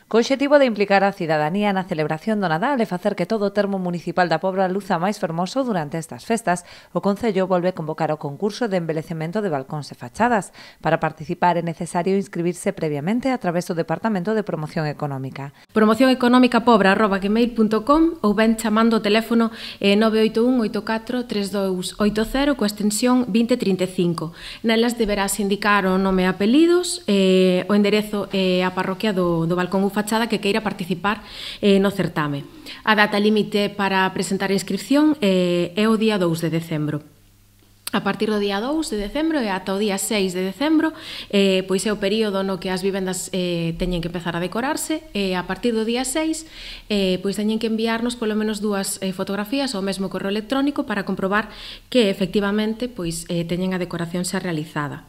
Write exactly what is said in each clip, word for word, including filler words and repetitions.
Co obxectivo de implicar a cidadanía na celebración do Nadal e facer que todo o termo municipal da Pobra luza máis fermoso durante estas festas, o Concello volve a convocar o concurso de embelecemento de balcóns e fachadas. Para participar é necesario inscribirse previamente a través do Departamento de Promoción Económica. promoción económica pobra arroba gmail punto com ou ben chamando o teléfono nove oito un oito catro tres dous oito cero coa extensión vinte trinta e cinco. Nelas deberás indicar o nome e apelidos, eh, o enderezo e a parroquia do, do balcón ou fachada que queira participar eh, no certame. A data límite para presentar a inscripción eh, é o día dous de decembro. A partir do día dous de decembro e ata o día seis de decembro, eh, pois é o período no que as vivendas eh, teñen que empezar a decorarse, e a partir do día seis, eh, pois teñen que enviarnos polo menos dúas eh, fotografías ao mesmo correo electrónico para comprobar que efectivamente pois, eh, teñen a decoración xa realizada.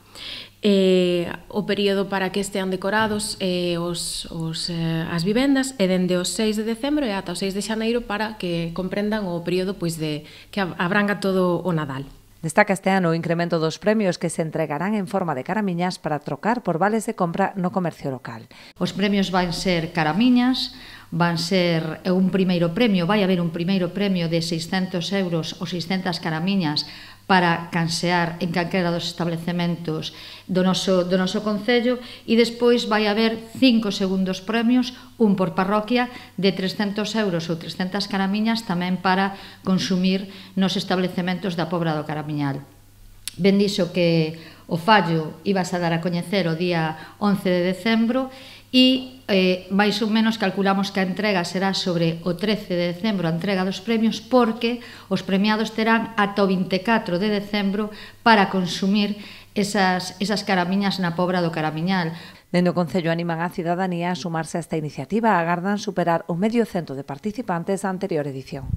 Eh, o período para que estean decorados eh, os, os, eh, as vivendas é dende o seis de decembro e ata o seis de xaneiro para que comprendan o período pois, de, que abranga todo o Nadal. Destaca este ano o incremento dos premios que se entregarán en forma de caramiñas para trocar por vales de compra no comercio local. Os premios van ser caramiñas, van ser un primeiro premio, vai haber un primeiro premio de seiscentos euros ou seiscentas caramiñas para cansear en calquera dos establecementos do noso, do noso Concello, e despois vai haber cinco segundos premios, un por parroquia, de trescentos euros ou trescentas caramiñas tamén para consumir nos establecementos da Pobra do Caramiñal. Ben dixo que o fallo ibas a dar a coñecer o día once de decembro e eh, máis ou menos calculamos que a entrega será sobre o trece de decembro, a entrega dos premios, porque os premiados terán ata o vinte e catro de decembro para consumir esas, esas caramiñas na Pobra do Caramiñal. Dende o Concello animan a cidadanía a sumarse a esta iniciativa, agardan superar o medio cento de participantes da anterior edición.